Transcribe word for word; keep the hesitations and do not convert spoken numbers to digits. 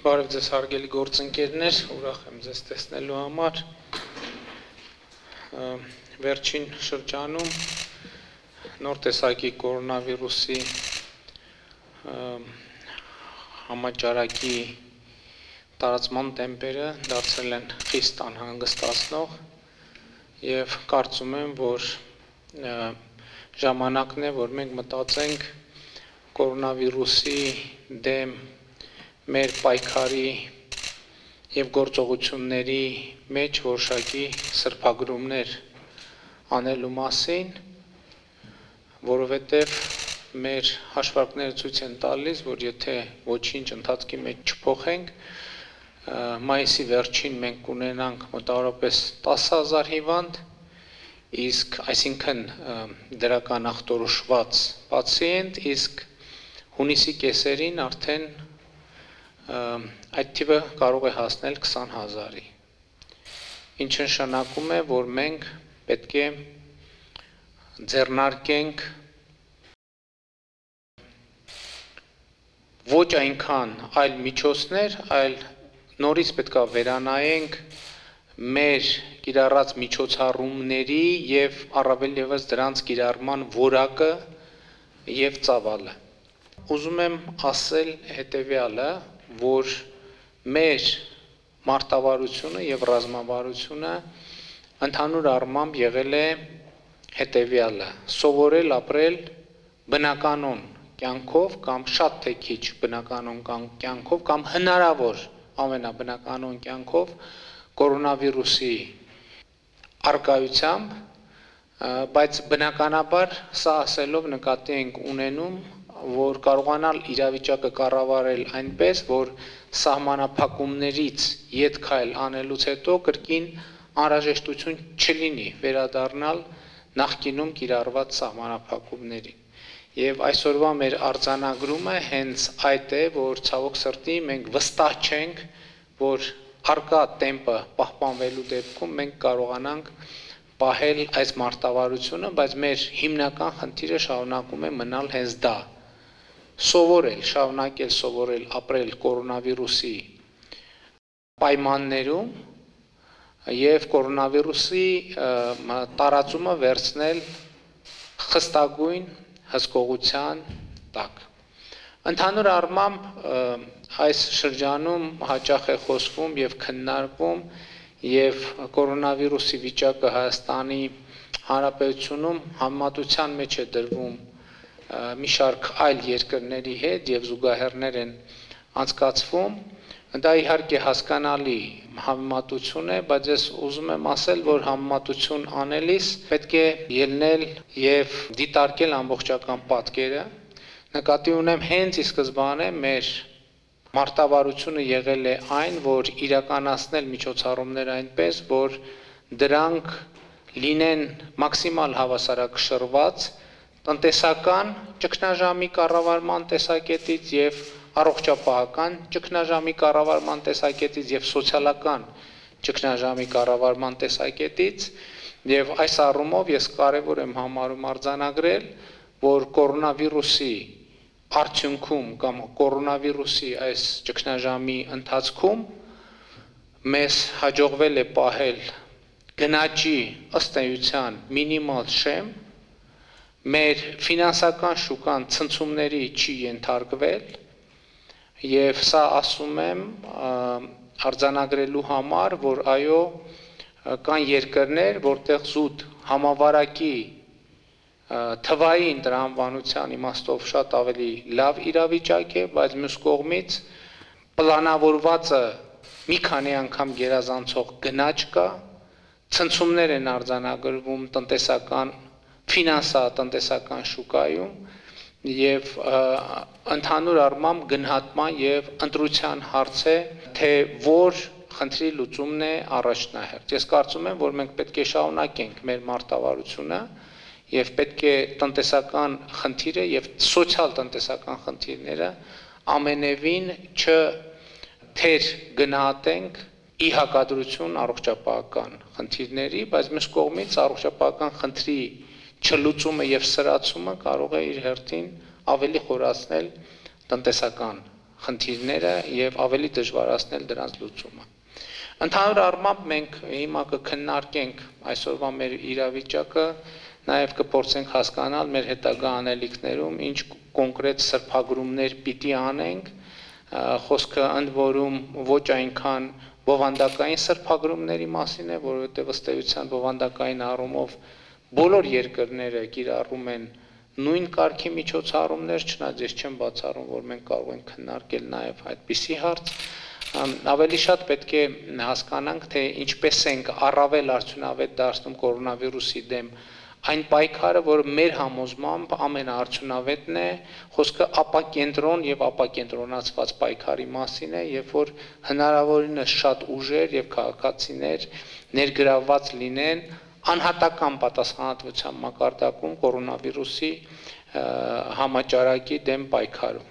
Բարև ձեզ հարգելի գործընկերներ, ուրախ եմ ձեզ տեսնելու համար։ Վերջին շրջանում նոր տեսակի կորոնավիրուսի համաճարակի տարածման տեմպերը դարձել են խիստ անհանգստացնող եւ կարծում եմ, որ ժամանակն է, որ մենք մտածենք կորոնավիրուսի դեմ մեր պայքարի եւ գործողությունների մեջ որոշակի սրբագրումներ անելու մասին, որովհետեւ մեր հաշվարկները ցույց են տալիս, որ եթե ոչինչ ընթացքի մեջ չփոխենք, մայիսի վերջին մենք կունենանք մոտավորապես տասը հազար հիվանդ, իսկ այսինքն դրական ախտորոշված պացիենտ, իսկ հունիսի կեսերին արդեն այդ թիվը կարող է հասնել քսան հազարի, ինչը նշանակում է, որ մենք պետք է ձեռնարկենք ոչ այնքան այլ միջոցներ, այլ նորից պետք է վերանայենք մեր կիրառած միջոցառումների եւ առավել ևս դրանց կիրառման որակը եւ ծավալը։ Ուզում եմ ասել հետեւյալը, որ մեր մարտավարությունը եւ ռազմավարությունը ընդհանուր առմամբ եղել է հետեւյալը՝ սովորել ապրել բնականon կյանքով կամ շատ թե քիչ բնականon կյանքով կամ հնարավոր ամենաբնականon կյանքով կորոնավիրուսի արկայությամբ, բայց բնականաբար սա ասելով նկատի ենք ունենում, որ կարողանալ իրավիճակը կառավարել այնպես, որ սահմանափակումներից ետ քայլ անելուց հետո կրկին անհրաժեշտություն չլինի վերադառնալ նախկինում կիրառված սահմանափակումներին։ Եվ այսօրվա մեր արձանագրումը հենց այդ է, որ ցավոք սրտի մենք վստահ չենք, որ արկա տեմպը պահպանվելու դեպքում մենք կարողանանք պահել այս մարտավարությունը, բայց մեր հիմնական խնդիրը շարունակում է մնալ հենց դա։ Սովորել, շարունակել սովորել ապրել կորոնավիրուսի պայմաններում եւ կորոնավիրուսի տարածումը վերցնել խստագույն հսկողության տակ։ Ընդհանուր առմամբ այս շրջանում հաճախ է խոսվում եւ քննարկվում եւ կորոնավիրուսի վիճակը Հայաստանի Հանրապետությունում համեմատության մեջ է դրվում մի շարք այլ երկրների հետ եւ զուգահեռներ են անցկացվում, դա իհարկե հասկանալի համեմատություն է, բայց ես ուզում եմ ասել, որ համեմատություն անելիս պետք է ելնել եւ դիտարկել ամբողջական պատկերը, նկատի ունեմ հենց ի սկզբանե մեր մարտավարությունը եղել է այն, որ իրականացնել միջոցառումներ այնպես, որ դրանք լինեն մաքսիմալ հավասարակշռված տնտեսական ճգնաժամի կառավարման տեսակետից եւ առողջապահական ճգնաժամի կառավարման տեսակետից եւ սոցիալական ճգնաժամի կառավարման տեսակետից եւ այս առումով ես կարեւոր եմ համարում արձանագրել, որ կորոնավիրուսի արդյունքում կամ կորոնավիրուսի այս ճգնաժամի ընթացքում մեզ հաջողվել է պահել գնաճի ըստ էության մինիմալ շեմ, մեր ֆինանսական շուկան ցնցումների չի ենթարկվել եւ սա ասում եմ արձանագրելու համար, որ այո կան երկրներ, որտեղ զուտ համավարակի թվային տրամաբանության իմաստով շատ ավելի լավ իրավիճակ է, բայց մյուս կողմից պլանավորվածը մի քանի անգամ գերազանցող գնաճ կա, ցնցումներ են արձանագրվում տնտեսական ֆինանսա-տնտեսական շուկայում եւ ընդհանուր առմամբ գնահատման եւ ընտրության հարց է, թե որ խնդրի լուծումն է առաջնահերթ։ Ես կարծում եմ, որ մենք պետք է շարունակենք մեր մարտավարությունը եւ պետք է տնտեսական խնդիրը եւ սոցիալ-տնտեսական խնդիրները ամենևին չ թեր գնահատենք ի հակադրություն առողջապահական խնդիրների, բայց մյուս կողմից առողջապահական խնդրի չլուծումը եւ սրացումը կարող է իր հերթին ավելի խորացնել տնտեսական խնդիրները եւ ավելի դժվարացնել դրանց լուծումը։ Ընդհանուր առմամբ մենք հիմա կքննարկենք այսօրվա մեր իրավիճակը, նաեւ կփորձենք հասկանալ մեր հետագա անելիքներում ինչ կոնկրետ սրբագրումներ պիտի անենք, խոսքը ընդ որում ոչ այնքան բովանդակային սրբագրումների մասին է, որովհետեւ ըստ էության բովանդակային առումով բոլոր երկրները կիրառում են նույն կարգի միջոցառումներ, չնայած ես չեմ բացառում, որ մենք կարող ենք քննարկել նաև այդպիսի հարց, ավելի շատ պետք է հասկանանք, թե ինչպես ենք առավել արդյունավետ դարձնում կորոնավիրուսի դեմ այն պայքարը, որը մեր համոզմամբ ամենաարդյունավետն է, խոսքը ապակենտրոն եւ ապակենտրոնացված պայքարի մասին է, երբ որ հնարավորինս շատ ուժեր եւ քաղաքացիներ ներգրավված լինեն անհատական պատասխանատվության մակարդակում կորոնավիրուսի համաճարակի դեմ պայքարում։